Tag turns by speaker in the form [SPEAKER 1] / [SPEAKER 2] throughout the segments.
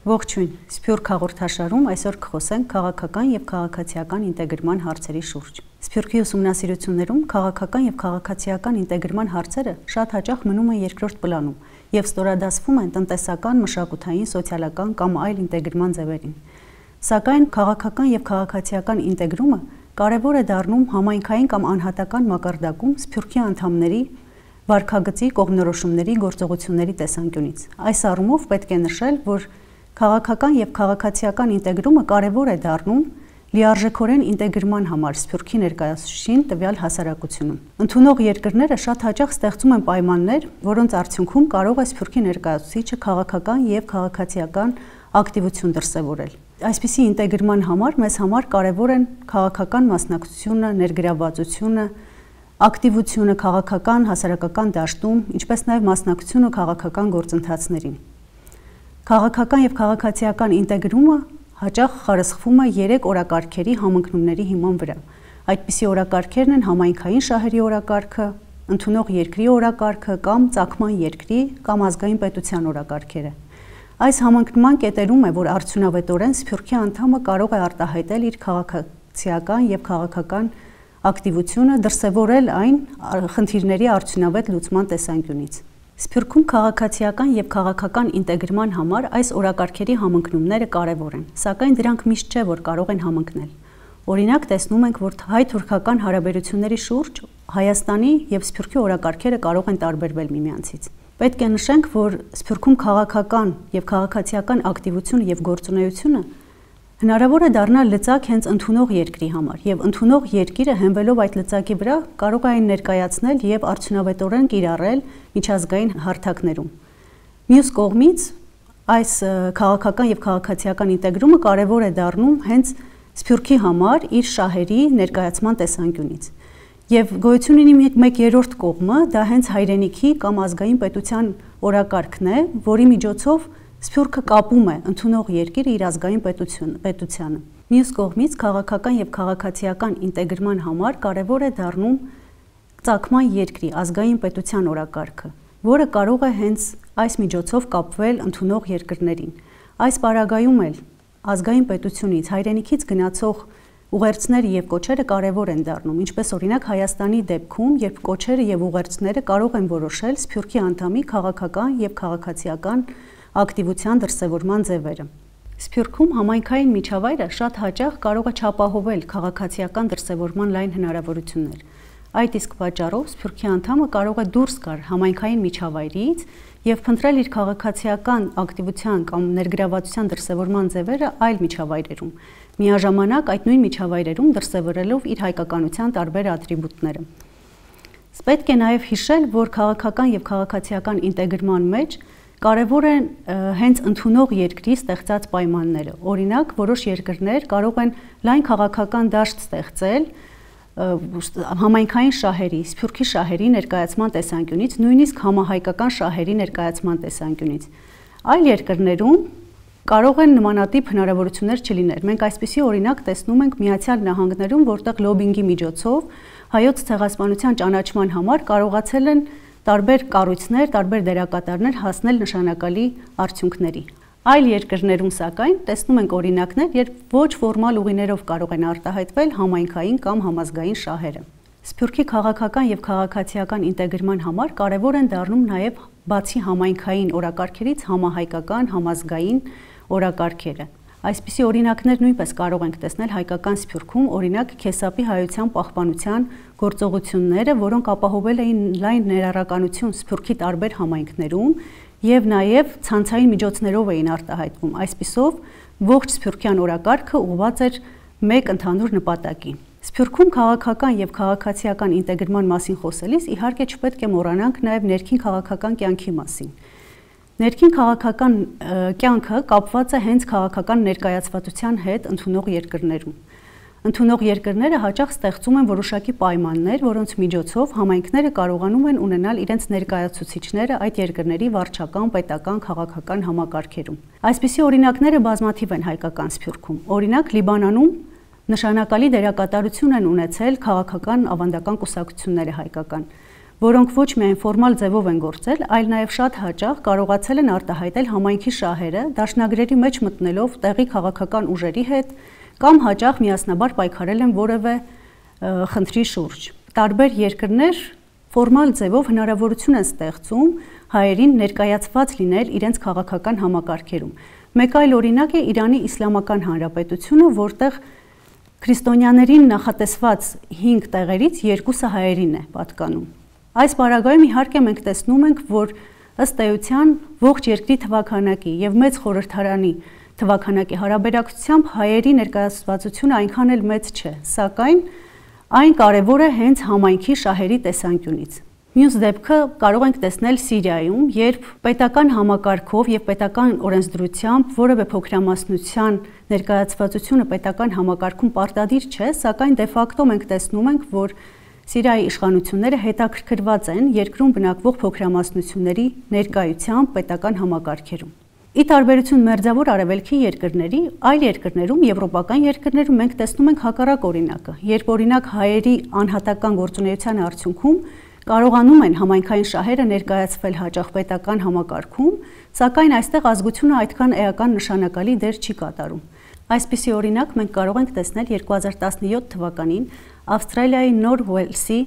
[SPEAKER 1] Ողջույն, Սփյուռք հաղորդաշարում այսօր կխոսենք քաղաքական եւ քաղաքացիական ինտեգրման հարցերի շուրջ։ Սփյուռքի ուսումնասիրություններում քաղաքական եւ քաղաքացիական ինտեգրման հարցերը շատ հաճախ մնում են երկրորդ պլանում եւ ստորադասվում են տնտեսական, մշակութային, սոցիալական կամ այլ ինտեգրման ձևերին։ Սակայն քաղաքական եւ քաղաքացիական ինտեգրումը կարևոր է դառնում համայնքային կամ անհատական մակարդակում Սփյուռքի անդամների վարքագծի կողմնորոշումների գործողությունների տեսանկյունից։ Այս առումով պետք է նշել, որ քաղաքական եւ քաղաքացիական ինտեգրումը կարևոր է դառնում լիարժեքորեն ինտեգրման համար Սփյուռքի ներկայացուցիչին տվյալ հասարակությունում։ Ընդունող երկրները շատ հաճախ ստեղծում են պայմաններ, որոնց արդյունքում կարող է Սփյուռքի ներկայացուցիչը քաղաքական եւ քաղաքացիական ակտիվություն դրսեւորել։ Այսպիսի ինտեգրման համար մեզ համար կարևոր են քաղաքական մասնակցությունը, ներգրավվածությունը, ակտիվությունը քաղաքական, հասարակական դաշտում, ինչպես նաև մասնակցությունը քաղաքական գործընթացներին։ Քաղաքական եւ քաղաքացիական ինտեգրումը հաճախ խարսխվում է 3 օրակարգերի համընկնումների հիման վրա։ Այդպիսի օրակարգերն են համայնքային շահերի օրակարգը, ընդունող երկրի օրակարգը կամ ծագման երկրի կամ ազգային պետության օրակարգերը։ Այս համընկնման կետերում է, որ արդյունավետորեն Սփյուռքի անդամը կարող է արտահայտել իր քաղաքացիական եւ քաղաքական ակտիվությունը, դրսևորել այն խնդիրների արդյունավետ լուծման տեսանկյունից։ Սփյուռքում քաղաքացիական եւ քաղաքական ինտեգրման համար այս օրակարգերի համընկնումները կարևոր են, սակայն դրանք միշտ չէ, որ կարող են համընկնել։ Օրինակ տեսնում ենք, որ հայ-թուրքական հարաբերությունների շուրջ Հայաստանի եւ Սփյուռքի օրակարգերը կարող են տարբերվել միմյանցից։ Պետք է նշենք, որ Սփյուռքում քաղաքական եւ քաղաքացիական ակտիվությունը եւ գործունեությունը հնարավոր է դառնալ լծակ հենց ընդունող երկրի համար եւ ընդունող երկիրը հենվելով այդ լծակի վրա կարող է այն ներկայացնել եւ արդյունավետորեն կիրառել միջազգային հարթակներում։ Մյուս կողմից այս քաղաքական եւ քաղաքացիական ինտեգրումը կարևոր է դառնում հենց Սփյուռքի համար իր շահերի ներկայացման տեսանկյունից։ Եվ գոյություն ունի մեկ երրորդ կողմը, դա հենց հայրենիքի կամ ազգային պետության օրակարգն է, որի միջոցով Սփյուռքը կապում է ընդունող երկիրը իր ազգային պետությանը։ Մյուս կողմից քաղաքական եւ քաղաքացիական ինտեգրման համար կարևոր է դառնում ծագման երկրի ազգային պետության օրակարգը, որը կարող է հենց այս միջոցով կապվել ընդունող երկրներին։ Այս պարագայում էլ ազգային պետությունից հայրենիքից գնացող ուղերձները եւ կոչերը կարևոր են դառնում, ինչպես օրինակ Հայաստանի դեպքում, երբ կոչերը եւ ուղերձները կարող են որոշել Սփյուռքի անդամի քաղաքական եւ քաղաքացիական ակտիվության դրսևորման ձևերը։ Սփյուռքում համայնքային միջավայրը շատ հաճախ կարող է չապահովել քաղաքացիական դրսևորման լայն հնարավորություններ։ Այդ իսկ պատճառով Սփյուռքի անդամը կարող է դուրս գալ համայնքային միջավայրից եւ փնտրել իր քաղաքացիական ակտիվության կամ ներգրավվածության դրսևորման ձևերը այլ միջավայրերում, միաժամանակ այդ նույն միջավայրերում դրսևորելով իր հայկականության տարբեր ատրիբուտները։ Պետք է նաեւ հիշել, որ քաղաքական եւ քաղաքացիական ինտեգրման մեջ կարևոր են հենց ընդունող երկրի ստեղծած պայմանները։ Օրինակ, որոշ երկրներ կարող են լայն քաղաքական դաշտ ստեղծել համայնքային շահերի, Սփյուռքի շահերի ներկայացման տեսանկյունից, նույնիսկ համահայկական շահերի ներկայացման տեսանկյունից։ Այլ երկրներում կարող են նմանատիպ հնարավորություններ չլինել։ Մենք այսպիսի օրինակ տեսնում ենք Միացյալ Նահանգներում, որտեղ լոբինգի միջոցով հայոց ցեղասպանության ճանաչման համար կարողացել են տարբեր կառույցներ, տարբեր դերակատարներ հասնել նշանակալի արդյունքների։ Այլ երկրներում սակայն տեսնում ենք օրինակներ, երբ ոչ ֆորմալ ուղիներով կարող են արտահայտվել համայնքային կամ համազգային շահերը։ Սփյուռքի քաղաքական եւ քաղաքացիական ինտեգրման համար կարևոր են դառնում նաեւ բացի համայնքային օրակարգերից համահայկական, համազգային օրակարգերը։ Այսպիսի օրինակներ նույնպես կարող ենք տեսնել հայկական Սփյուռքում, օրինակ Քեսապի հայության պահպանության գործողությունները, որոնք ապահովել էին լայն ներառականություն Սփյուռքի տարբեր համայնքներում եւ նաեւ ցանցային միջոցներով էին արտահայտվում։ Այսպիսով ողջ Սփյուռքյան օրակարգը ուղղված էր մեկ ընդհանուր նպատակի։ Սփյուռքում քաղաքական եւ քաղաքացիական ինտեգրման մասին խոսելիս իհարկե չպետք է մոռանանք նաեւ ներքին քաղաքական կյանքի մասին։ Ներքին քաղաքական կյանքը կապված է հենց քաղաքական ներկայացվածության հետ ընդունող երկրներում։ Ընդունող երկրները հաճախ ստեղծում են որոշակի պայմաններ, որոնց միջոցով համայնքները կարողանում են ունենալ իրենց ներկայացուցիչները այդ երկրների վարչական, պետական, քաղաքական համակարգերում։ Այսպիսի օրինակները բազմաթիվ են հայկական Սփյուռքում։ Օրինակ Լիբանանում նշանակալի դերակատարություն են ունեցել քաղաքական ավանդական կուսակցությունները հայկական։ որոնք ոչ միայն ֆորմալ ձևով են գործել, այլ նաև շատ հաճախ կարողացել են արտահայտել համայնքի շահերը, դաշնագրերի մեջ մտնելով տեղի քաղաքական ուժերի հետ կամ հաճախ միասնաբար պայքարել են որևէ խնդրի շուրջ։ Տարբեր երկրներ ֆորմալ ձևով հնարավորություն են ստեղծում հայերին ներկայացված լինել իրենց քաղաքական համակարգերում։ Մեկ այլ օրինակ է Իրանի Իսլամական Հանրապետությունը, որտեղ քրիստոնյաներին նախատեսված 5 տեղերից 2-ը հայերին է պատկանում։ Այս պարագայում իհարկե մենք տեսնում ենք, որ ըստ էության ողջ երկրի թվաքանակի եւ մեծ խորհրդարանի թվաքանակի հարաբերակցությամբ հայերի ներկայացվածությունը այնքան էլ մեծ չէ, սակայն այն կարևոր է հենց համայնքի շահերի տեսանկյունից։ Մյուս դեպքը կարող ենք տեսնել Սիրիայում, երբ պետական համակարգով եւ պետական օրենսդրությամբ որևէ փոքրամասնության ներկայացվածությունը պետական համակարգում պարտադիր չէ, սակայն դե ֆակտո մենք տեսնում ենք, որ Սիրիայի իշխանությունները հետաքրքրված են երկրում բնակվող փոքրամասնությունների ներկայությամբ պետական համակարգերում։ Ի տարբերություն մերձավոր արևելքի երկրների, այլ երկրներում, եվրոպական երկրներում մենք տեսնում ենք հակառակ օրինակը, երբ օրինակ հայերի անհատական գործունեության արդյունքում կարողանում են համայնքային շահերը ներկայացվել հաճախ պետական համակարգում, սակայն այստեղ ազգությունը այդքան էական նշանակալի դեր չի կատարում։ Այսպիսի օրինակ մենք կարող ենք տեսնել 2017 թվականին Ավստրալիայի Նոր Ուելսի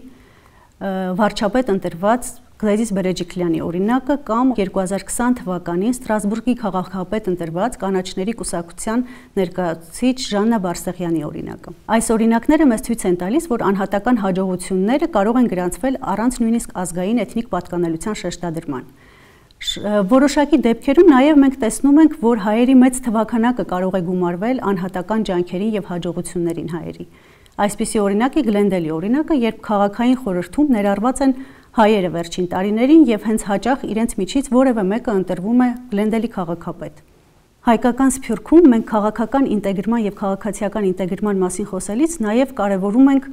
[SPEAKER 1] վարչապետ ընտրված Գլեդիս Բերեջիկլյանի օրինակը կամ 2020 թվականին Ստրասբուրգի քաղաքապետ ընտրված կանաչների կուսակցության ներկայացուցիչ Ժաննա Բարսեղյանի օրինակը։ Այս օրինակները մեզ ցույց են տալիս, որ անհատական հաջողությունները կարող են գրանցվել առանց նույնիսկ ազգային էթնիկ պատկանելիության շեշտադրման։ Որոշակի դեպքերում նաև մենք տեսնում ենք, որ հայերի մեծ թվաքանակը կարող է գումարվել անհատական ջանքերին եւ հաջողություններին հայերի։ Այսպիսի օրինակ է Գլենդելի օրինակը, երբ քաղաքային խորհրդում ներառված են հայերը վերջին տարիներին եւ հենց հաճախ իրենց միջից որևէ մեկը ընտրվում է Գլենդելի քաղաքապետ։ Հայկական Սփյուռքում մենք քաղաքական ինտեգրման եւ քաղաքացիական ինտեգրման մասին խոսելիս նաեւ կարեւորում ենք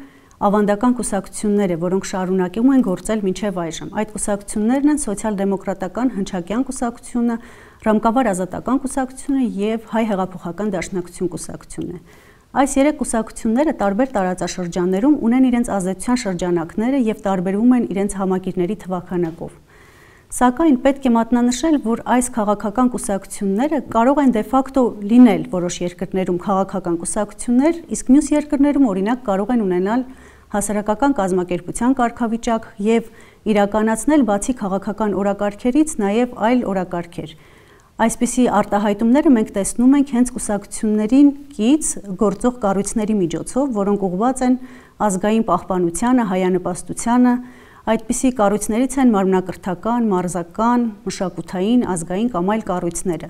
[SPEAKER 1] ավանդական կուսակցությունները, որոնք շարունակում են գործել մինչև այժմ։ Այդ կուսակցություններն են Սոցիալ-դեմոկրատական հնչակյան կուսակցությունը, Ռամկավար ազատական կուսակցությունը եւ Հայ հեղափոխական դաշնակցություն կուսակցությունը։ Այս երեք կուսակցությունները տարբեր տարածաշրջաններում ունեն իրենց ազդեցության շրջանակները եւ տարբերվում են իրենց համակիրների թվաքանակով։ Սակայն պետք է մատնանշել, որ այս քաղաքական կուսակցությունները կարող են դե ֆակտո լինել որոշ երկրներում քաղաքական կուսակցություններ, իսկ մյուս երկրներում օրինակ կարող են ունենալ հասարակական կազմակերպության կարգավիճակ եւ իրականացնել բացի քաղաքական օրակարգերից նաեւ այլ օրակարգեր։ Այսպիսի արտահայտումները մենք տեսնում ենք հենց կուսակցություններին կից գործող կառույցների միջոցով, որոնք ուղղված են ազգային պահպանությանը, հայանպաստությանը, այդպիսի կառույցներից են մարմնակրթական, մարզական, մշակութային, ազգային կամ այլ կառույցները։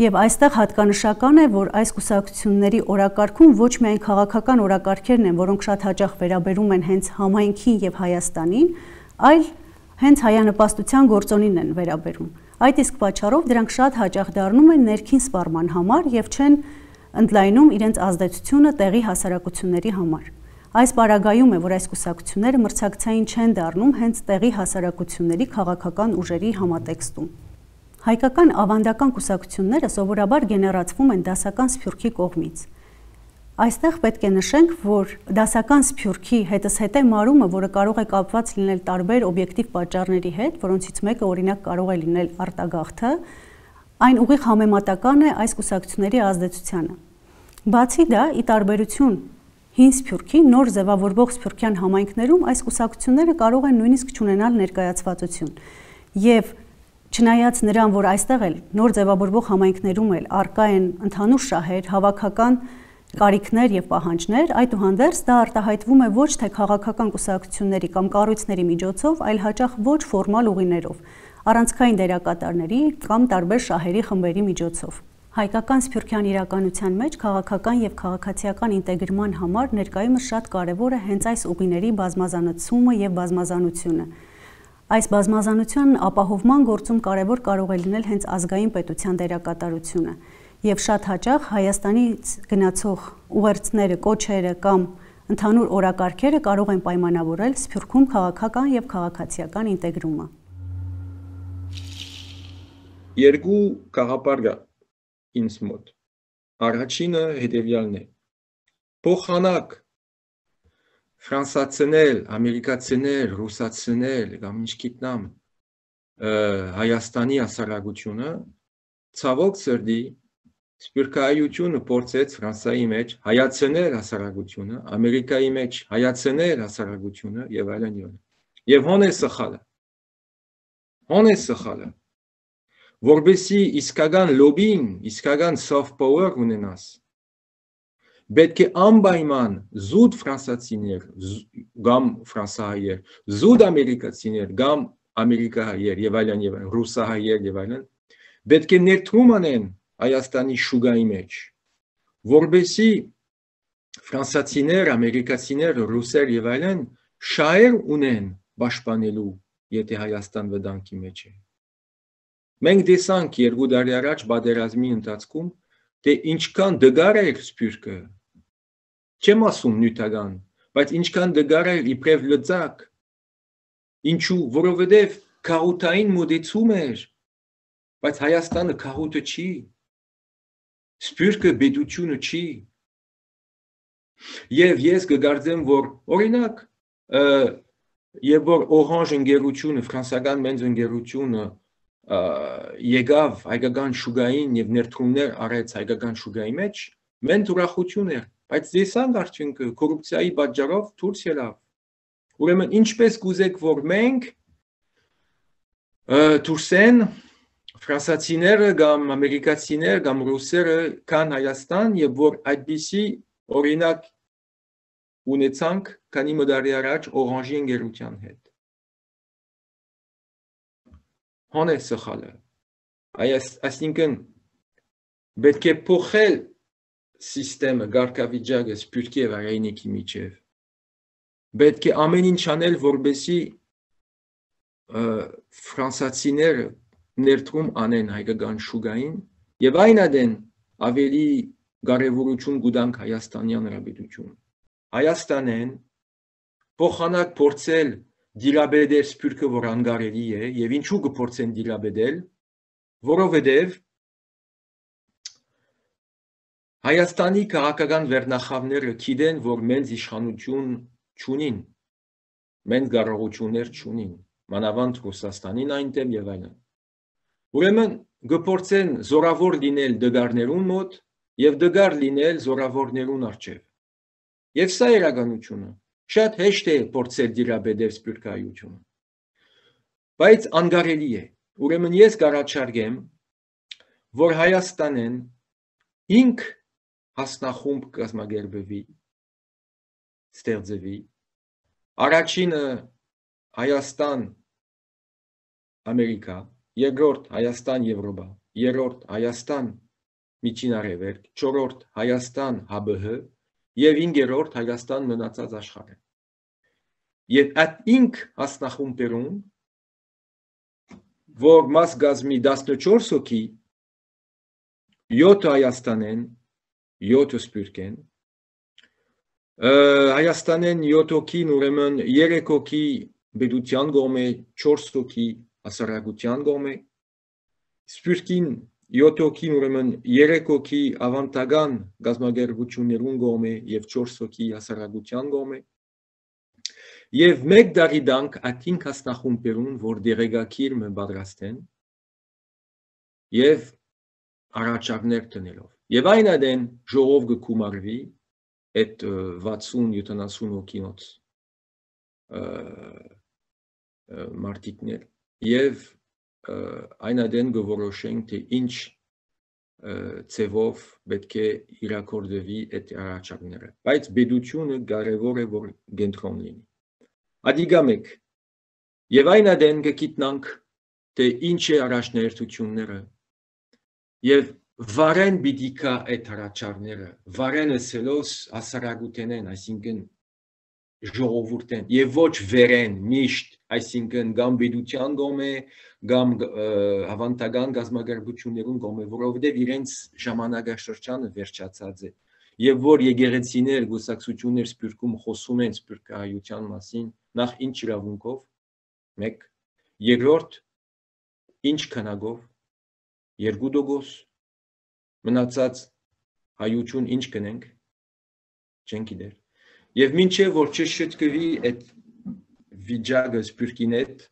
[SPEAKER 1] Եվ այստեղ հատկանշական է, որ այս կուսակցությունների օրակարգում ոչ միայն քաղաքական օրակարգերն են, որոնք շատ հաճախ վերաբերում են հենց համայնքին եւ Հայաստանին, այլ հենց հայանպաստության գործոնին են վերաբերում։ Այդ իսկ պատճառով դրանք շատ հաճախ դառնում են ներքին սպառման համար եւ չեն ընդլայնում իրենց ազդեցությունը տեղի հասարակությունների համար։ Այս պարագայում է, որ այս կուսակցությունները մրցակցային չեն դառնում հենց տեղի հասարակությունների քաղաքական ուժերի համատեքստում։ Հայկական ավանդական կուսակցությունները սովորաբար գեներացվում են դասական Սփյուռքի կողմից։ Այստեղ պետք է նշենք, որ դասական Սփյուռքի հետզհետե մարումը, որը կարող է կապված լինել տարբեր օբյեկտիվ պատճառների հետ, որոնցից մեկը օրինակ կարող է լինել արտագաղթը, այն ուղիղ համեմատական է այս կուսակցությունների ազդեցությանը։ Բացի դա, ի տարբերություն հին Սփյուռքի նոր ձևավորվող սփյուռքյան համայնքներում այս կուսակցությունները կարող են նույնիսկ չունենալ ներկայացվածություն։ Եվ չնայած նրան, որ այստեղ էլ նոր ձևավորվող համայնքներում էլ առկա են ընդհանուր շահեր, հավաքական կարիքներ եւ պահանջներ, այդուհանդերձ դա արտահայտվում է ոչ թե քաղաքական կուսակցությունների կամ կառույցների միջոցով, այլ հաճախ ոչ ֆորմալ ուղիներով, առանցքային դերակատարների կամ տարբեր շահերի խմբերի միջոցով։ Հայկական սփյուռքյան իրականության մեջ քաղաքական եւ քաղաքացիական ինտեգրման համար ներկայումս շատ կարեւոր է հենց այս ուղիների բազմազանացումը եւ բազմազանությունը։ Այս բազմազանության ապահովման գործում կարևոր կարող է լինել հենց ազգային պետության դերակատարությունը եւ շատ հաճախ Հայաստանից գնացող ուղերձները, կոչերը կամ ընդհանուր օրակարգերը կարող են պայմանավորել Սփյուռքում քաղաքական եւ քաղաքացիական ինտեգրումը։
[SPEAKER 2] Երկու գաղափար կա ինձ մոտ։ Առաջինը հետևյալն է. փոխանակ ֆրանսացիներ, ամերիկացիներ, ռուսացիներ, կամ ինչ գիտնամ, Հայաստանի հասարակությունը ցավոք սրտի սփյուռքահայությունը փորձեց Ֆրանսիայի մեջ հայացնել հասարակությունը, Ամերիկայի մեջ հայացնել հասարակությունը եւ այլն եւ այլն։ Եվ հոն է սխալը, որբեսի իսկական լոբին, իսկական soft power ունենաս, պետք է անպայման զուտ ֆրանսացիներ կամ ֆրանսահայեր, զուտ ամերիկացիներ կամ ամերիկահայեր եւ այլն, ռուսահայեր եւ այլն, պետք է ներդրում անեն Հայաստանի շուգայի մեջ, որբեսի ֆրանսացիներ, ամերիկացիներ, ռուսեր եւ այլն շահեր ունեն պաշտպանելու, եթե Հայաստան վտանգի մեջ է։ Մենք տեսանք 2 տարի առաջ պատերազմի ընթացքում, թե ինչքան դգար էր սփյուռքը, չեմ ասում նյութական, բայց ինչքան դգար էր իբրև լծակ, ինչու, որովհետև քահութային մոդեցում էր, բայց Հայաստանը քահութը չի, սփյուռքը պետությունը չի, եւ ես կգարձեմ, որ օրինակ, եւ որ Օրանժ ընկերությունը, ֆրանսիական մեծ ընկերությունը եկավ հայկական շուգային եւ ներդրումներ արեց հայկական շուգայի մեջ, մենք ուրախություն էր, բայց տեսանք արդյունքը կոռուպցիայի պատճառով դուրս ելավ։ Ուրեմն ինչպես կուզեք, որ մենք դուրսեն ֆրանսացիները կամ ամերիկացիներ կամ ռուսերը կան Հայաստան եւ որ այդպիսի օրինակ ունեցանք քանի մոդարի առաջ Օրանժի ընկերության հետ։ Հոն է սխալը։ Այսինքն պետք է փոխել սիստեմը, գարկավիճակը սփյուռքի եւ հայրենիքի միջև։ Պետք է ամեն ինչ անել, որբեսի ֆրանսացիները ներդրում անեն հայկական շուգային եւ այն adեն ավելի կարեւորություն կուտանք Հայաստանյան հանրապետություն։ Հայաստանեն փոխանակ փորձել դիլաբեդել սփյուռքը, որ անկարելի է, եւ ինչու կփորձեն դիլաբեդել, որովհետեւ Հայաստանի քաղաքական վերնախավները գիտեն, որ մենք իշխանություն չունին, մենք կարողություններ չունին, մանավանդ Ռուսաստանին այնտեղ եւ այլն։ Ուրեմն կփորձեն զորավոր լինել դգարներուն մոտ եւ դգար լինել զորավորներուն առջև։ Եվ սա իրականությունը շատ հեշտ է փորձել դիլաբեդել սփյուռքահայությունը, բայց անկարելի է։ Ուրեմն ես կառաջարկեմ, որ Հայաստանեն 5 հասնախումբ կազմակերպվի, ստեղծվի։ Առաջինը Հայաստան Ամերիկա, երկրորդ Հայաստան Եվրոպա, երրորդ Հայաստան Միջին Արևելք, չորրորդ Հայաստան ՀԲՀ եւ 5-րդ Հայաստան մնացած աշխարհը։ Եվ այդ 5 հասնախումբերում, որ մաս կազմի 14 հոգի, 7 Հայաստանեն, 7 սփյուռքեն, Հայաստանեն 7 հոգին, ուրեմն 3 հոգի պետության կողմէ, 4 հոգի հասարակության կողմէ, սփյուռքին 7 հոգին, ուրեմն 3 հոգի ավանդական գազագերբություններուն կողմէ եւ 4 հոգի հասարակության կողմէ, եւ 1 տարի դանք այդ 5 հասնախումբերուն, որ դեղեկագիր մը պատրաստեն եւ առաջարկներ տնելով։ Եվ այն adեն ժողով կգումարվի այդ 60-70 հոգինոց մարտիկներ եւ այն adեն կորոշենք թե ինչ ցևով պետք է իրակորձվի այդ առաջարկները, բայց պետությունը կարևոր է որ կենտրոն լինի։ Ադիգա մեկ եւ այն adեն կգիտնանք թե ինչ է առաջնահերթությունները եւ վարեն պիտի կա այդ առաջարկները, վարեն ասելոս հասարակութենեն, այսինքն ժողովուրդեն եւ ոչ վերեն միշտ, այսինքն կամ պետության կողմէ, կամ ավանդական գազագերբություններուն կողմէ, որովհետեւ իրենց ժամանակաշրջանը վերջացած է եւ որ եկեղեցիներ, գուսակցություններ սփյուռքում խոսում են սփյուռքահայության մասին, նախ ինչ իրավունքով, 1, երկրորդ ինչ քանակով, 2%, մնացած հայություն ինչ կնենք, չենք գիտեր, Եվ մինչև որ չշտկվի այդ վիճակը սփյուռքին հետ,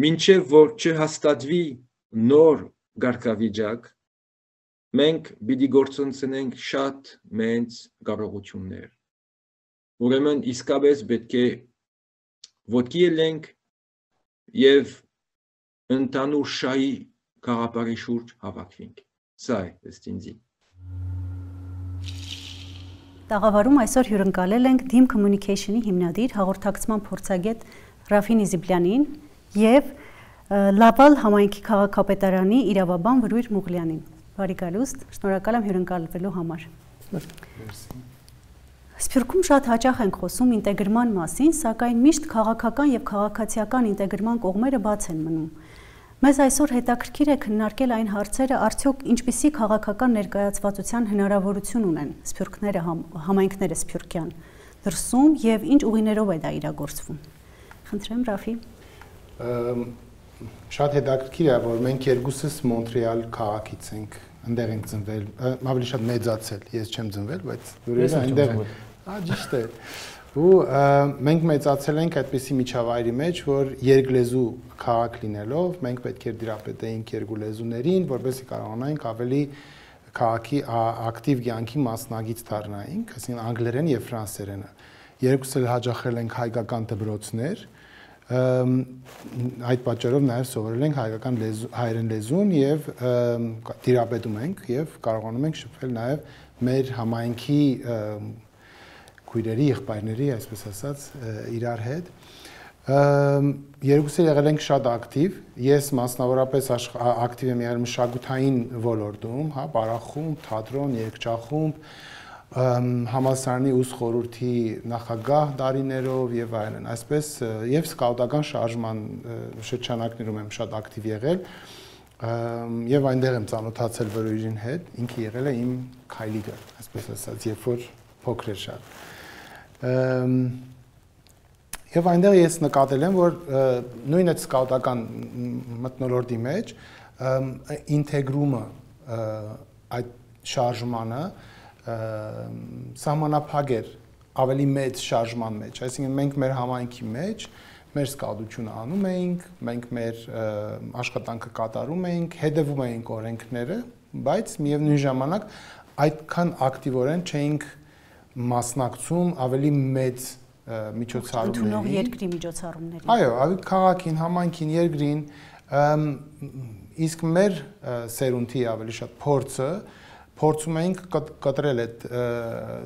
[SPEAKER 2] մինչև որ չհաստատվի նոր գարկավիճակ, մենք պիտի գործընծնենք շատ մեծ կարողություններ։ Ուրեմն իսկապես պետք է ոտքի ելենք եւ ընդհանուր շահի գաղափարի շուրջ հավաքվենք։ Սա է ըստ ինձի։
[SPEAKER 1] Տաղավարում այսօր հյուրընկալել ենք Dim Communication-ի հիմնադիր հաղորդակցման փորձագետ Ռաֆին Իզիպլյանին եւ Լավալ համայնքի քաղաքապետարանի իրավաբան Վրույր Մուղլյանին։ Բարի գալուստ, շնորհակալ եմ հյուրընկալվելու համար։ Սփյուռքում շատ հաճախ ենք խոսում ինտեգրման մասին, սակայն միշտ քաղաքական եւ քաղաքացիական ինտեգրման կողմերը բաց են մնում։ Մեզ այսօր հետաքրքիր է քննարկել այն հարցերը, արդյոք ինչպիսի քաղաքական ներկայացվածության հնարավորություն ունեն սփյուռքները, համայնքները սփյուռքյան դրսում եւ ինչ ուղիներով է դա իրագործվում։ Խնդրեմ Ռաֆի։
[SPEAKER 3] Շատ հետաքրքիր է, որ մենք երկուսս Մոնտրեալ քաղաքից ենք, այնտեղ ենք ծնվել, ավելի շատ մեծացել, ես չեմ ծնվել, բայց ուրեմն այնտեղ եմ։ Ճիշտ է։ Ու մենք մեծացել ենք այդպիսի միջավայրի մեջ, որ երկլեզու քաղաք լինելով, մենք պետք է դիրապետեինք երկու լեզուներին, որպեսզի կարողանայինք ավելի քաղաքի ակտիվ կյանքի մասնագիծ դառնայինք, այսինքն անգլերեն եւ ֆրանսերենը։ Երկուսս էլ հաճախել ենք հայկական դպրոցներ, այդ պատճառով նաև սովորել ենք հայկական հայերեն լեզուն եւ դիրապետում ենք եւ կարողանում ենք շփվել նաև մեր համայնքի քույրերի, եղբայրների, այսպես ասած, իրար հետ։ Երկուսը եղել ենք շատ ակտիվ, ես մասնավորապես ակտիվ եմ եղել մշակութային ոլորտում, հա, բարախումբ, թատրոն, երգչախումբ, համալսարանի ուսուցիչ խորհրդի նախագահ դարիներով եւ այլն, այսպես եւ սկաուտական շարժման շրջանակներում եմ շատ ակտիվ եղել եւ այնտեղ եմ ծանոթացել Վրույրին հետ, ինքը եղել է իմ քայլիկը, այսպես ասած, երբ որ փոքր էր շատ։ Եվ այնտեղ ես նկատել եմ, որ նույն այդ սկաուտական մթնոլորտի մեջ ինտեգրումը այդ շարժմանը սահմանափակ էր ավելի մեծ շարժման մեջ, այսինքն մենք մեր համայնքի մեջ մեր սկաուտությունը անում էինք, մենք մեր աշխատանքը կատարում էինք, հետևում էինք օրենքները, բայց միևնույն ժամանակ այդքան ակտիվորեն չէինք մասնակցում ավելի մեծ միջոցառումների,
[SPEAKER 1] ընդունող երկրի միջոցառումների։
[SPEAKER 3] Այո, ավելի քաղաքին, համայնքին, երկրին, իսկ մեր սերունդի ավելի շատ փորձը փորձում էինք կտրել այդ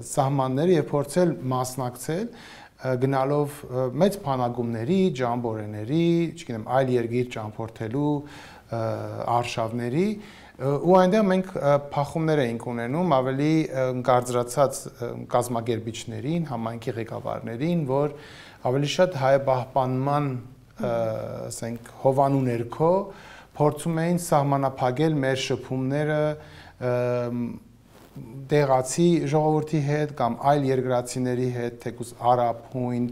[SPEAKER 3] սահմանները եւ փորձել մասնակցել գնալով մեծ բանակումների, ջամբորեների, չգիտեմ, այլ երկիր ճամփորդելու արշավների ու այնտեղ մենք փախումներ էինք ունենում ավելի կարծրացած կազմակերպիչներին, համայնքի ղեկավարներին, որ ավելի շատ հայապահպանման, ասենք, հովանու ներքո փորձում էին սահմանափակել մեր շփումները տեղացի ժողովրդի հետ կամ այլ երկրացիների հետ, թեկուզ արաբ, հույն,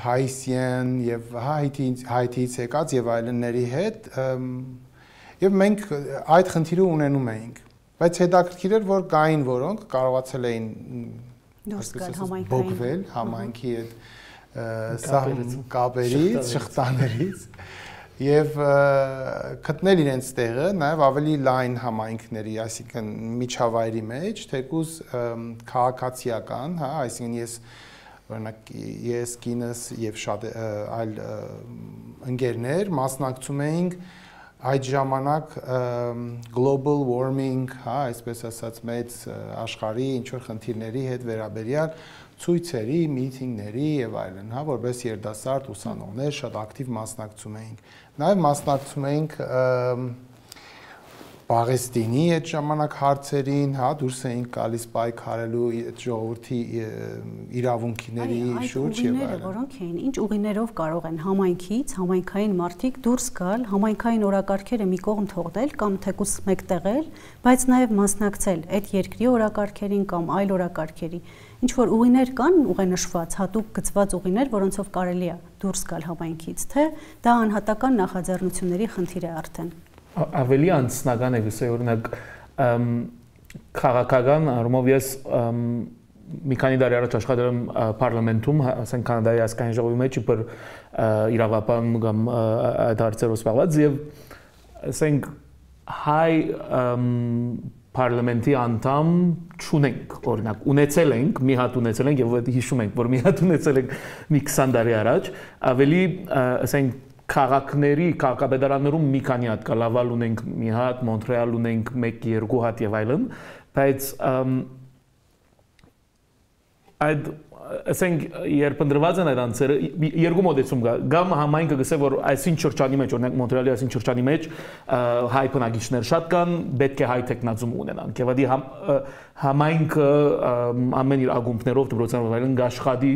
[SPEAKER 3] հայսյան եւ հայթից եկած եւ այլնների հետ եւ մենք այդ խնդիրը ունենում էինք, բայց հետաքրքիր էր, որ կային որոնք կարողացել էին բողվել համայնքի այդ կապերից, շղթաներից եւ գտնել իրենց տեղը նաեւ ավելի լայն համայնքների, այսինքն միջավայրի մեջ, թեկուզ քաղաքացիական, հա, այսինքն ես կինս եւ շատ այլ ընկերներ մասնակցում էինք այդ ժամանակ global warming, հա, այսպես ասած մեծ աշխարհի ինչ որ խնդիրների հետ վերաբերյալ ցույցերի, միտինգների եւ այլն, հա, որպես երիտասարդ ուսանողներ շատ ակտիվ մասնակցում էինք։ Նաեւ մասնակցում էինք Պաղեստինի այդ ժամանակ հարցերին, հա, դուրս էինք գալիս պայքարելու այդ ժողովրդի իրավունքների շուրջ եւ այլն։
[SPEAKER 1] Որոնք էին, ինչ ուղիներով կարող են համայնքից, համայնքային մարդիկ դուրս գալ, համայնքային օրակարգերը մի կողմ թողնել կամ թեկուզ մեկտեղել, բայց նաեւ մասնակցել այդ երկրի օրակարգերին կամ այլ օրակարգերի։ Ինչ որ ուղիներ կան, ուղենշված, հատուկ գծված ուղիներ, որոնցով կարելի է դուրս գալ համայնքից, թե դա անհատական նախաձեռնությունների խնդիր է արդեն։
[SPEAKER 4] Ավելի անձնական է գուցե օրինակ քաղաքական առումով ես մի քանի տարի առաջ աշխատել եմ parlamentum, ասենք Կանադայի ազգային ժողովի մեջ իբր իրավապան կամ այդ հարցերով զբաղված եւ ասենք հայ parlamenti անդամ չունենք, օրինակ ունեցել ենք, մի հատ ունեցել ենք եւ հիշում ենք, որ մի հատ ունեցել ենք մի 20 տարի առաջ, ավելի ասենք քաղաքների, քաղաքապետարաններում մի քանի հատ կա, Լավալ ունենք մի հատ, Մոնտրեալ ունենք 1-2 հատ եւ այլն, բայց այդ ասենք երբ ընդրված են այդ անձերը երկու մոդեցում կա, կամ համայնքը գսե որ այսին շրջանի մեջ, օրինակ Մոնտրեալի այսին շրջանի մեջ հայ բնակիչներ շատ կան, պետք է հայ տեխնազում ունենան, եւ ադի համայնքը ամեն իր ագումբներով դպրոցներով այլն գաշխատի,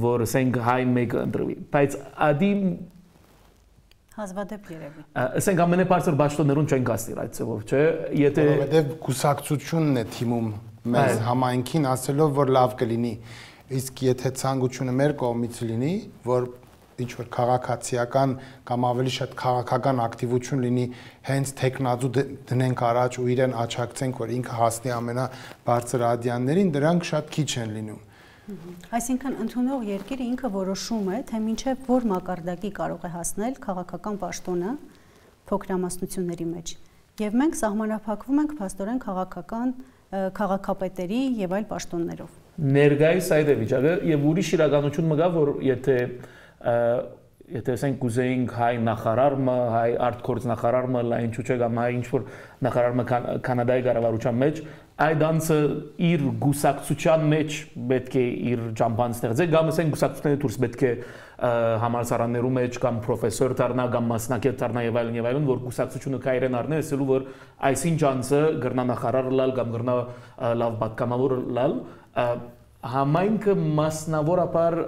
[SPEAKER 4] որ ասենք հայ մեկը ընտրվի, բայց ադի
[SPEAKER 1] հազվադեպ երևի։
[SPEAKER 4] Ասենք ամենաբարձր բաշխտներուն չեն կաստիր այդ ծավով, չէ՞, եթե
[SPEAKER 3] որովհետև կուսակցությունն է թիմում մեզ համայնքին ասելով որ լավ կլինի, իսկ եթե ցանկությունը մեր կողմից լինի, որ ինչ որ քաղաքացիական կամ ավելի շատ քաղաքական ակտիվություն լինի, հենց տեխնազու դնենք առաջ ու իրեն աչակցենք, որ ինքը հասնի ամենաբարձր ադյաններին, դրանք շատ քիչ են լինում։
[SPEAKER 1] Այսինքն ընդունող երկիրը ինքը որոշում է, թե մինչև որ մակարդակի կարող է հասնել քաղաքական պաշտոնը փոքրամասնությունների մեջ։ Եվ մենք սահմանափակվում ենք փաստորեն քաղաքական քաղաքապետերի եւ այլ պաշտոններով։
[SPEAKER 4] Ներգայիս այդ է վիճակը եւ ուրիշ իրականություն մգա, որ եթե ասենք կուզեինք հայ նախարարը, հայ արտգործ նախարարը, լայն չուչե կամ հայ ինչ որ նախարարը Կանադայի կառավարության մեջ, այդ անձը իր գուսակցության մեջ պետք է իր ճամփան ստեղծել, կամ ասենք գուսակցությունների դուրս պետք է համալսարաններում մեջ կամ պրոֆեսոր դառնա կամ մասնակից դառնա եւ այլն, որ գուսակցությունը կայրեն առնել, ասելու որ այսինչ անձը գրնա նախարար լալ կամ գրնա լավ պատգամավոր լալ, համայնքը մասնավորապես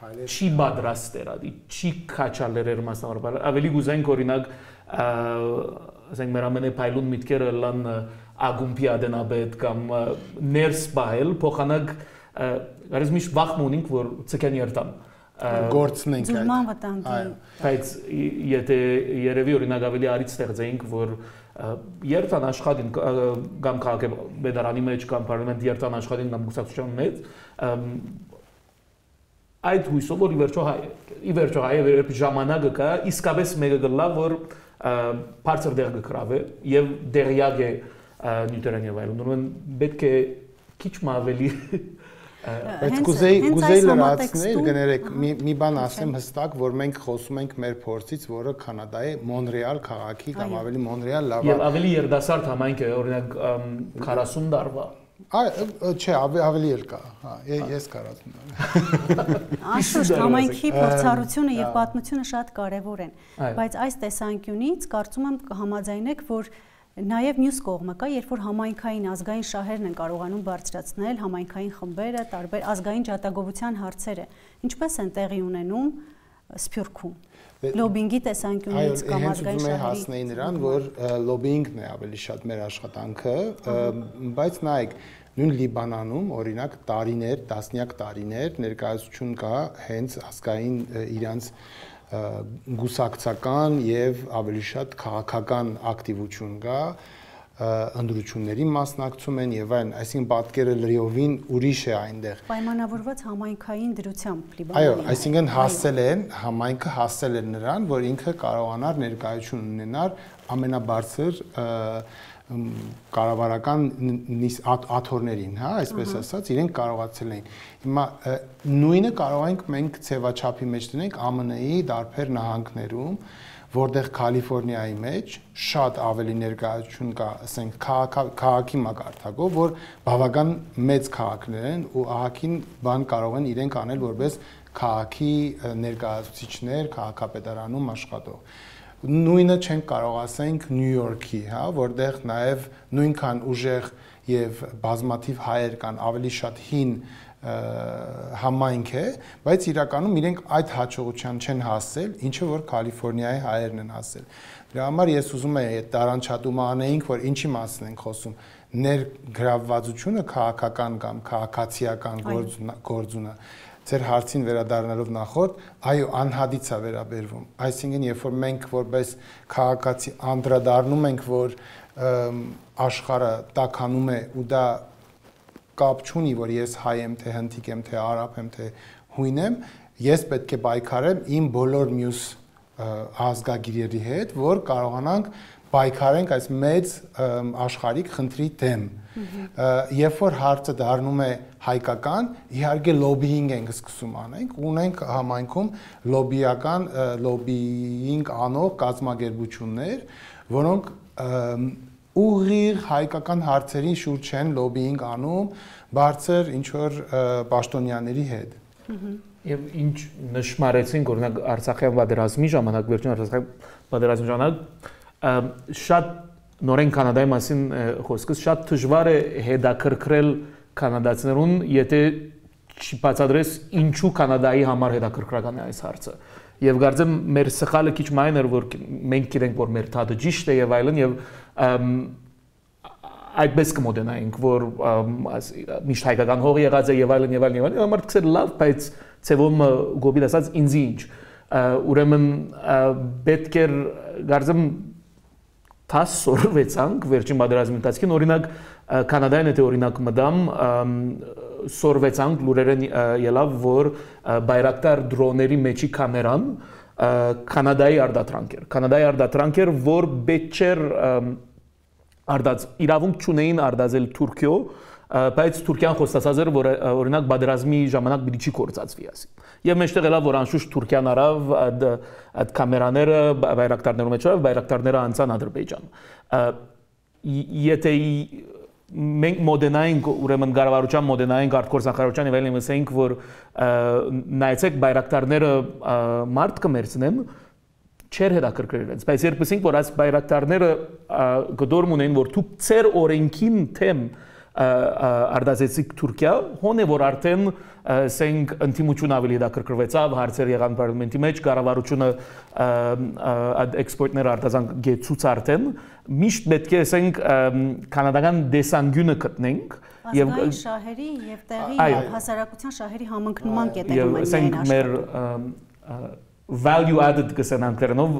[SPEAKER 4] չի պատրաստեր, չի քաչալերեր մասնավորապես, ավելի գուզենք օրինակ, ասենք մեր ամենափայլուն միտքերը լան ագումբի ադենաբեդ կամ ներս բահել, փոխանակ գարեզ միշտ վախմ ունենք, որ ցկեն երտան
[SPEAKER 3] գործնենք
[SPEAKER 1] այդ։
[SPEAKER 4] Բայց եթե երևի օրինակ ավելի արից ստեղծեինք, որ երտան աշխատին կամ քաղաքապետարանի մեջ կամ պարլամենտ երտան աշխատին կամ գուսակցության մեջ, այդ հույսով որ ի վերջո հայ երբ ժամանակը կա, իսկապես մեկը գլա որ բարձր դեր կգրավե եւ դերյակ է նյութերան եւ այլն, ուրեմն պետք է քիչ ավելի
[SPEAKER 3] բայց կուզեի լրացնել, գներեք, մի բան ասեմ հստակ, որ մենք խոսում ենք մեր փորձից, որը Կանադայի Մոնտրեալ քաղաքի կամ ավելի Մոնտրեալ լավ
[SPEAKER 4] եւ ավելի երդասարդ համայնք է, օրինակ 40 տարվա
[SPEAKER 3] չէ, ավելի էլ կա, ես կարծում եմ։
[SPEAKER 1] Անշուշտ համայնքի փորձառությունը եւ պատմությունը շատ կարեւոր են, բայց այս տեսանկյունից կարծում եմ կհամաձայնեք, որ նաև մյուս կողմը կա, երբ որ համայնքային ազգային շահերն են կարողանում բարձրացնել համայնքային խմբերը, տարբեր ազգային ջատագովության հարցերը, ինչպես են տեղի ունենում Սփյուռքում։ Լոբինգի տեսանկյունից կամ ազգային շահերի
[SPEAKER 3] հասնեի նրան, որ լոբինգն է ավելի շատ մեր աշխատանքը, բայց նայեք, նույն Լիբանանում օրինակ տարիներ, տասնյակ տարիներ ներկայացություն կա հենց ազգային իրանց գուսակցական եւ ավելի շատ քաղաքական ակտիվություն կա, ընդրությունների մասնակցում են եւ այլն, այսինքն պատկերը լրիովին ուրիշ է այնտեղ։
[SPEAKER 1] Պայմանավորված համայնքային դրությամբ Լիբանանի։
[SPEAKER 3] Այո, այսինքն համայնքը հասել է նրան, որ ինքը կարողանար ներկայություն ունենար ամենաբարձր կառավարական աթոռներին, հա, այսպես ասած, իրենք կարողացել էին։ Հիմա նույնը կարող ենք մենք ցեվաչափի մեջ դնենք ԱՄՆ-ի դարբեր նահանգներում, որտեղ Կալիֆոռնիայի մեջ շատ ավելի ներկայություն կա, ասենք, քաղաքի մակարդակով, որ բավական մեծ քաղաքներ են ու ահագին բան կարող են իրենք անել որպես քաղաքի ներկայացուցիչներ, քաղաքապետարանում աշխատող։ Նույնը չենք կարող ասենք Նյու Յորքի, հա, որտեղ նաև նույնքան ուժեղ եւ բազմաթիվ հայեր կան, ավելի շատ հին համայնք է, բայց իրականում իրենք այդ հաջողության չեն հասել, ինչը որ Կալիֆոռնիայի հայերն են հասել։ Դրա համար ես ուզում եմ այդ տարանչատումը անեինք, որ ինչի մասին ենք խոսում, ներգրավվածությունը քաղաքական կամ քաղաքացիական գործունը Ձեր հարցին վերադառնալով նախորդ, այո, անհադից է վերաբերվում։ Այսինքն, երբ որ մենք որպես քաղաքացի անդրադառնում ենք, որ աշխարհը տաքանում է ու դա կապ չունի, որ ես հայ եմ, թե հնդիկ եմ, թե արաբ եմ, թե հույն եմ, ես պետք է պայքարեմ իմ բոլոր մյուս ազգագիրերի հետ, որ կարողանանք պայքարենք այս մեծ աշխարհիկ խնդրի դեմ։ Երբ որ հարցը դառնում է հայկական, իհարկե լոբիինգ ենք սկսում անենք, ունենք համայնքում լոբիինգ անող կազմակերպություններ, որոնք ուղիղ հայկական հարցերի շուրջ են լոբիինգ անում բարձր ինչ որ պաշտոնյաների հետ։
[SPEAKER 4] Եվ ինչ նշмарեցինք օրինակ Արցախյան պատերազմի ժամանակ, վերջին Արցախյան պատերազմի ժամանակ շատ նորեն Կանադայի մասին խոսքս շատ դժվար է հետաքրքրել կանադացիներուն, եթե չբացատրես ինչու Կանադայի համար հետաքրքրական է այս հարցը։ Եվ կարծեմ մեր սխալը քիչ մայն էր, որ մենք գիտենք, որ մեր թադը ճիշտ է եւ այլն եւ այդպես կմոդենայինք, որ միշտ հայկական հող եղած է եւ այլն եւ այլն եւ այլն, մարդիկ ասել լավ, բայց ցեվում գոբիլ ասած ինձ ինչ։ Ուրեմն պետք է կարծեմ սորվեցանք վերջին պատերազմի ընթացքին, օրինակ Կանադային եթե օրինակ մտամ սորվեցանք լուրերեն ելավ, որ բայրակտար դրոների մեջի կամերան Կանադայի արտադրանք էր։ Կանադայի արտադրանք էր, որ պետք չէր իրավունք չունեին արտազել Թուրքիո, բայց Թուրքիան խոստացած էր, որ օրինակ պատերազմի ժամանակ պիտի չի կործածվի ասի։ Եվ մեջտեղ ելավ, որ անշուշտ Թուրքիան արավ այդ կամերաները բայրակտարներում մեջ արավ, բայրակտարները անցան Ադրբեջան։ Եթե մենք մոդենայինք, ուրեմն կառավարության մոդենայինք արտգործնախարարության եւ այլն ասենք, որ նայեցեք բայրակտարները մարդ կմերցնեն, չեր հետաքրքրել իրենց, բայց երբ ասենք, որ այս բայրակտարները գդորմ ունեն, որ դուք ծեր օրենքին թեմ արտազեցիք Թուրքիա, հոն է որ արդեն ասենք ընդդիմություն ավելի հետաքրքրվեցավ, հարցեր եղան պարլամենտի մեջ, կառավարությունը այդ էքսպորտները արտազանք գեցուց արդեն, միշտ պետք է ասենք կանադական դեսանգյունը գտնենք
[SPEAKER 1] եւ շահերի եւ տեղի հասարակության շահերի համընկնման կետերում են
[SPEAKER 4] ասենք մեր value added կսեն անգլերենով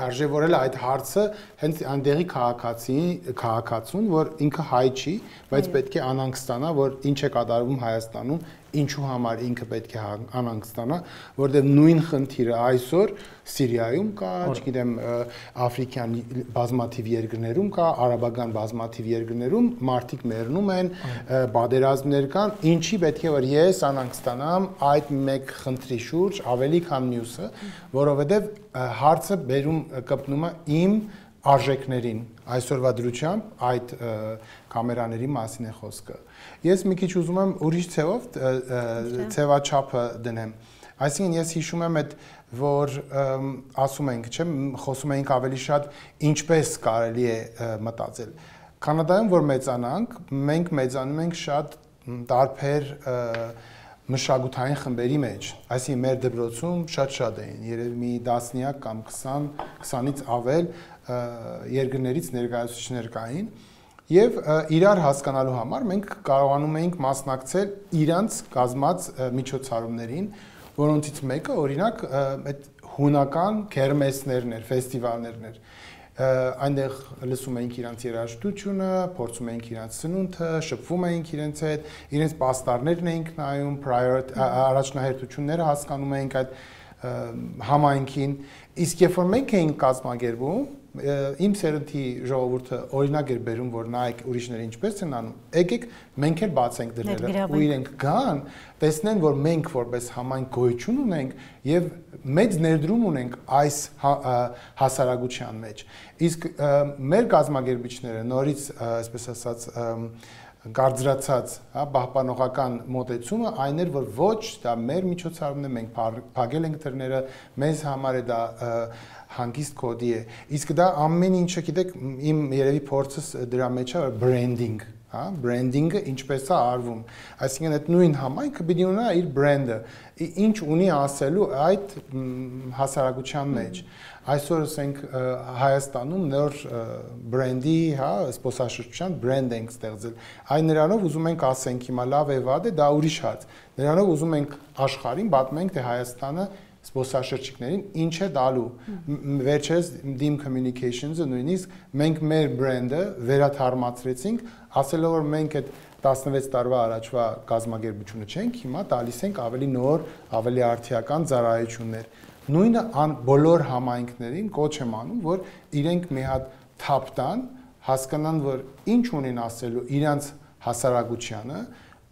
[SPEAKER 3] արժևորելը այդ հարցը հենց այնտեղի քաղաքացուն, որ ինքը հայ չի, բայց պետք է անհանգստանա, որ ինչ է կատարվում Հայաստանում, ինչու համար ինքը պետք է անհանգստանա, որտեղ նույն խնդիրը այսօր Սիրիայում կա, չգիտեմ, աֆրիկյան բազմաթիվ երկրներում կա, արաբական բազմաթիվ երկրներում մարդիկ մեռնում են, պատերազմներ կան, ինչի պետք է որ ես անհանգստանամ այդ մեկ խնդրի շուրջ ավելի քան մյուսը, որովհետև հարցը բերում կպնում է իմ արժեքներին, այսօրվա դրությամբ այդ կամերաների մասին է խոսքը։ Ես մի քիչ ուզում եմ ուրիշ ցևաչափը դնեմ։ Այսինքն ես հիշում եմ այդ որ ասում ենք, չէ, խոսում ենք ավելի շատ ինչպես կարելի է մտածել։ Կանադայում որ մեծանանք, մենք մեծանում ենք շատ տարբեր մշակութային խմբերի մեջ, այսինքն մեր դպրոցում շատ էին, երևի մի 10 կամ 20-ից ավել երկրներից ներկայացուցիչներ կային եւ իրար հասկանալու համար մենք կարողանում էինք մասնակցել իրանց կազմած միջոցառումներին, որոնցից մեկը օրինակ այդ հունական քերմեսներն էր, ֆեստիվալներն էր։ Այնտեղ լսում էինք իրանց երաժշտությունը, փորձում էինք իրանց սնունդը, շփվում էինք իրենց հետ, իրենց պաստառներն էինք նայում, առաջնահերթությունները հասկանում էինք այդ համայնքին, իսկ երբ որ մենք էինք կազմակերպում, իմ սերնդի ժողովուրդը օրինակ էր բերում, որ նայեք ուրիշները ինչպես են անում, եկեք մենք էլ բացենք դռները ու իրենք գան, տեսնեն, որ մենք որպես համայնք գոյություն ունենք եւ մեծ ներդրում ունենք այս հասարակության մեջ։ Իսկ մեր կազմակերպիչները նորից, այսպես ասած, գարձրացած, հա, պահպանողական մոտեցումը այն էր, որ ոչ, դա մեր միջոցառումն է, մենք փակել ենք դռները, մեզ համար է դա հանգիստ կոդի է։ Իսկ դա ամեն ինչը, գիտեք, իմ երևի փորձս դրա մեջ է branding, հա, branding-ը ինչպես է արվում։ Այսինքն այդ նույն համայնքը պիտի ունենա իր brand-ը, ինչ ունի ասելու այդ հասարակության մեջ։ Այսօր ասենք Հայաստանում նոր բրենդի, հա, սպոսաշրջության բրենդ ենք ստեղծել։ Այն նրանով ուզում ենք ասենք հիմա լավ է վատ է, դա ուրիշ հաց։ Նրանով ուզում ենք աշխարհին պատմենք, թե Հայաստանը զբոսաշրջիկներին ինչ է դալու։ Վերջերս Dim Communications-ը նույնիսկ մենք մեր բրենդը վերաթարմացրեցինք, ասելով որ մենք այդ 16 տարվա առաջվա կազմակերպությունը չենք, հիմա տալիս ենք ավելի նոր, ավելի արդիական ծառայություններ։ Նույնը բոլոր համայնքներին կոչ եմ անում, որ իրենք մի հատ թափ տան, հասկանան, որ ինչ ունեն ասելու իրանց հասարակությանը,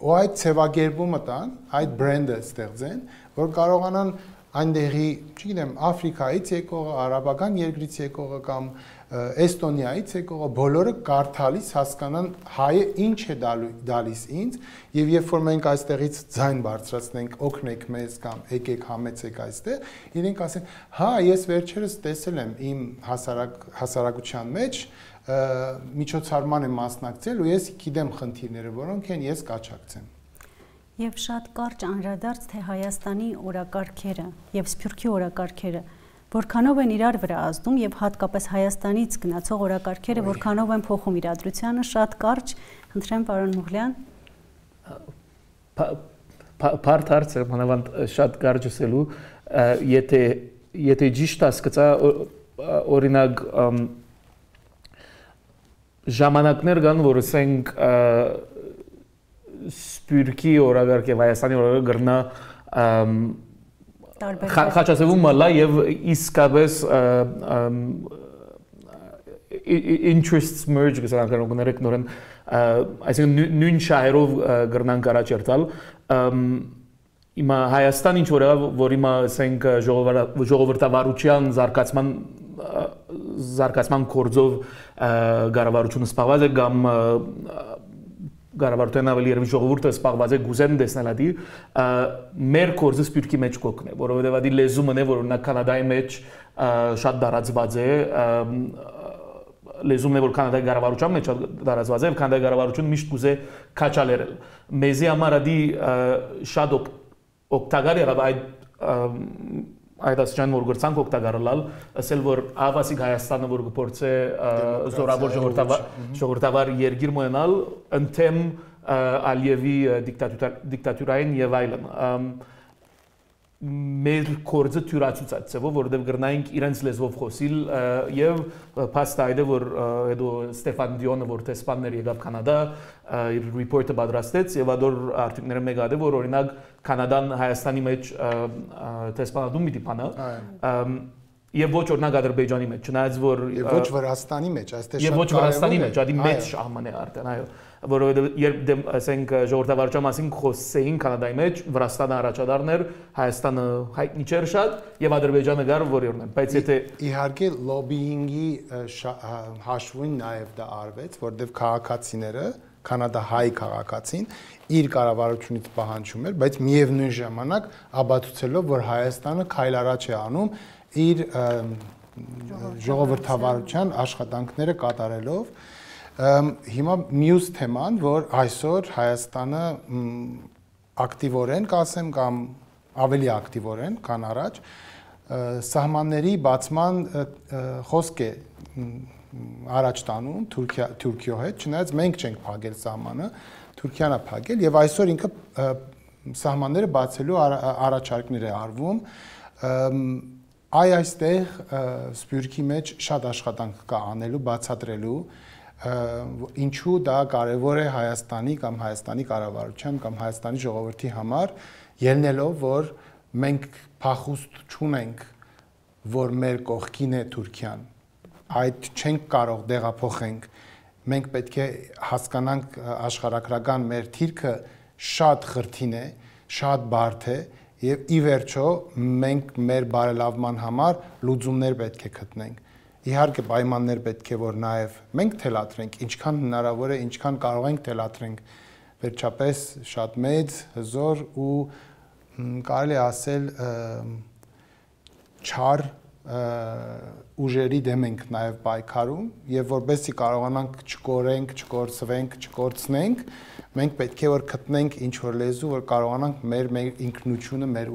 [SPEAKER 3] ու այդ ցևագերբումը տան, այդ բրենդը ստեղծեն, որ կարողանան այնտեղի, չգիտեմ, Աֆրիկայից եկողը, արաբական երկրից եկողը կամ Էստոնիայից եկողը բոլորը կարդալիս հասկանան հայը ինչ է դալիս ինձ, եւ երբ որ մենք այստեղից ձայն բարձրացնենք, օգնեք մեզ կամ եկեք համեցեք այստեղ, իրենք ասեն, հա, ես վերջերս տեսել եմ իմ հասարակության մեջ միջոցառման եմ մասնակցել ու ես գիտեմ խնդիրները, որոնք են, ես կաչակցեմ։
[SPEAKER 1] Եվ շատ կարճ անդրադարձ թե Հայաստանի օրակարգերը եւ Սփյուռքի օրակարգերը որքանով են իրար վրա ազդում եւ հատկապես Հայաստանից գնացող օրակարգերը որքանով են փոխում իրադրությանը, շատ կարճ, խնդրեմ պարոն Մուղլյան։
[SPEAKER 4] Բարդ հարց է, մանավանդ շատ կարճ ասելու, եթե ճիշտ հասկացա, օրինակ ժամանակներ կան, որ ասենք Սփյուռքի օրակարգ եւ Հայաստանի օրակարգը գրնա խաչացվում մալա եւ իսկապես interests merge գսան կարող նորեն այսինքն նույն շահերով գրնան կարաչերտալ Հիմա Հայաստան ինչ որ հիմա ասենք ժողովրդավարության զարգացման գործով կառավարությունը սպասված է կամ Գարավարտեն ավելի երևի ժողովուրդը սպասված է գուզեն տեսնել ադի մեր կորձը Սփյուռքի մեջ կոկն է որովհետև ադի լեզումը է որ օրինակ Կանադայի մեջ շատ դարածված է լեզումն է որ Կանադայի կառավարության մեջ դարածված է եւ Կանադայի կառավարությունը միշտ կուզե քաչալերել մեզի համար ադի շատ օգտակար եղավ այդ ասջան որ գործանք օգտակարել ասել որ ավասիկ Հայաստանը որ գործե զորավոր ժողովրդավար երկիր մոնալ ընդեմ Ալիևի դիկտատուրային եւ այլն մեր կորձը թյուրացուցած է որովհետեւ գրնայինք իրենց լեզվով խոսիլ եւ փաստայդը որ հետո Ստեֆան Դիոնը որ տեսփաններ եկավ Կանադա իր ռիպորտը պատրաստեց եւ ադոր արտիկները մեկ ադե որ օրինակ Կանադան Հայաստանի մեջ տեսփանադում մի տիպանա եւ ոչ օրինակ Ադրբեջանի մեջ չնայած որ
[SPEAKER 3] եւ ոչ Վրաստանի մեջ այստեղ
[SPEAKER 4] եւ ոչ Վրաստանի մեջ ադի մեծ շահման է արդեն այո որովհետեւ երբ ասենք ժողովրդավարության մասին խոսեին Կանադայի մեջ Վրաստանը առաջադարներ Հայաստանը հայտնի չէր շատ եւ Ադրբեջանը գար որ օրինակ բայց եթե
[SPEAKER 3] իհարկե լոբիինգի հաշվին նաեւ դա արվեց որովհետեւ քաղաքացիները կանադահայ քաղաքացին իր կառավարությունից պահանջում էր բայց միևնույն ժամանակ աբացուցելով որ Հայաստանը քայլ առաջ է անում իր ժողովրդավարության աշխատանքները կատարելով հիմա մյուս թեման որ այսօր Հայաստանը ակտիվորեն կասեմ կամ ավելի ակտիվորեն քան առաջ սահմանների բացման խոսք է առաջ տանում Թուրքիո հետ չնայած մենք չենք փակել սահմանը Թուրքիան է փակել եւ այսօր ինքը սահմանները բացելու առաջարկներ է արվում այստեղ Սփյուռքի մեջ շատ աշխատանք կա անելու բացատրելու ինչու դա կարևոր է Հայաստանի կամ Հայաստանի կառավարության կամ Հայաստանի ժողովրդի համար ելնելով որ մենք փախուստ չունենք որ մեր կողքին է Թուրքիան այդ չենք կարող դեղափոխենք մենք պետք է հասկանանք աշխարհագրական մեր թիրքը շատ խրթին է շատ բարդ է եւ ի վերջո մենք մեր բարելավման համար լուծումներ պետք է գտնենք իհարկե պայմաններ պետք է որ նաեւ մենք թելադրենք ինչքան հնարավոր է ինչքան կարող ենք թելադրենք վերջապես շատ մեծ հզոր ու կարելի ասել չար ուժերի դեմ ենք նաեւ պայքարում եւ որովհետեւ կարողանանք չկորենք, չկորցվենք, չկորցնենք մենք պետք է որ գտնենք ինչ որ լեզու որ կարողանանք մեր ինքնությունը, մեր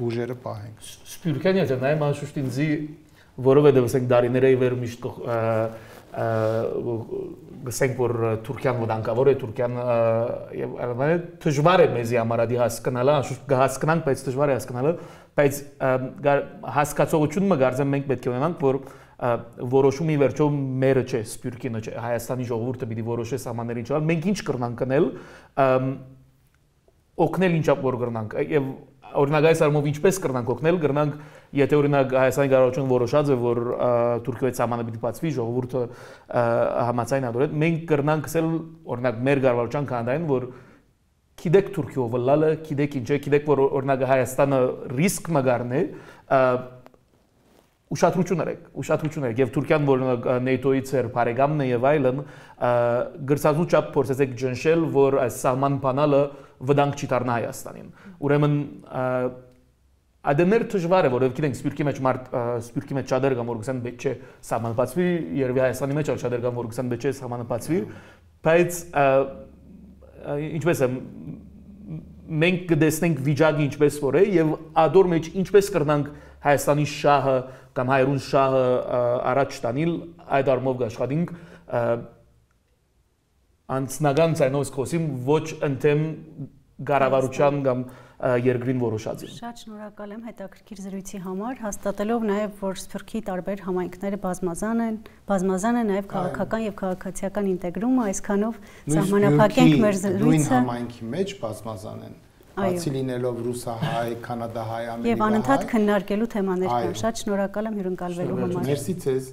[SPEAKER 3] ուժերը պահենք։
[SPEAKER 4] Սփյուռքյան եթե նայեմ անշուշտ ինձի որովհետեւ ասենք դարիների վեր միշտ գսենք որ Թուրքիան վտանգավոր է Թուրքիան եւ այլն դժվար է մեզի ամարադի հասկանալը կհասկանանք բայց դժվար է հասկանալը բայց հասկացողությունը մգարձեմ մենք պետք է ունենանք որ որոշումի վերջո մերը չէ սպյուրքինը չէ Հայաստանի ժողովուրդը պիտի որոշի սահմաններին չալ մենք ինչ կրնանք կնել օգնել ինչա որ կրնանք եւ օրինակ այս առումով ինչպես կրնանք օգնել կրնանք եթե օրինակ Հայաստանի կառավարությունը որոշած է որ Թուրքիայի սահմանը պիտի բացվի ժողովուրդը համաձայն ադորել մենք կրնանք ասել օրինակ մեր կառավարության կանադային որ գիտեք Թուրքիով լալը գիտեք ինչ է գիտեք որ օրինակ Հայաստանը ռիսկ մգարն է ուշադրություն եք եւ Թուրքիան որ NATO-ից էր բարեկամն է եւ այլն գրծածու չափ փորձեցեք ջնշել որ այս սահման բանալը վտանգ չի դառնա Հայաստանին ուրեմն ադներ դժվար է որովհետեւ գիտենք սպյուրքի մեջ չադեր կամ որ գսեն պետք չէ սահմանը բացվի երևի Հայաստանի մեջ չադեր կամ որ գսեն պետք չէ սահմանը բացվի բայց ինչպես է մենք կդեսնենք վիճակը ինչպես որ է եւ ադոր մեջ ինչպես կրնանք Հայաստանի շահը կամ հայրուն շահը առաջ տանել այդ առումով աշխատենք անձնական ցայնով խոսիմ ոչ ընդեմ կառավարության կամ երկրին որոշածին
[SPEAKER 1] Շատ շնորհակալ եմ հետաքրքիր զրույցի համար հաստատելով նաև որ Սփյուռքի տարբեր համայնքները բազմազան է նաև քաղաքական եւ քաղաքացիական ինտեգրումը այսքանով սահմանափակենք մեր զրույցը
[SPEAKER 3] նույն համայնքի մեջ բազմազան են Բացի լինելով ռուսահայ, կանադահայ, ամերիկահայ
[SPEAKER 1] Եվ անընդհատ քննարկելու թեմաներ կան։ Շատ շնորհակալ եմ հյուրընկալվելու համար։
[SPEAKER 3] Մերսի ձեզ։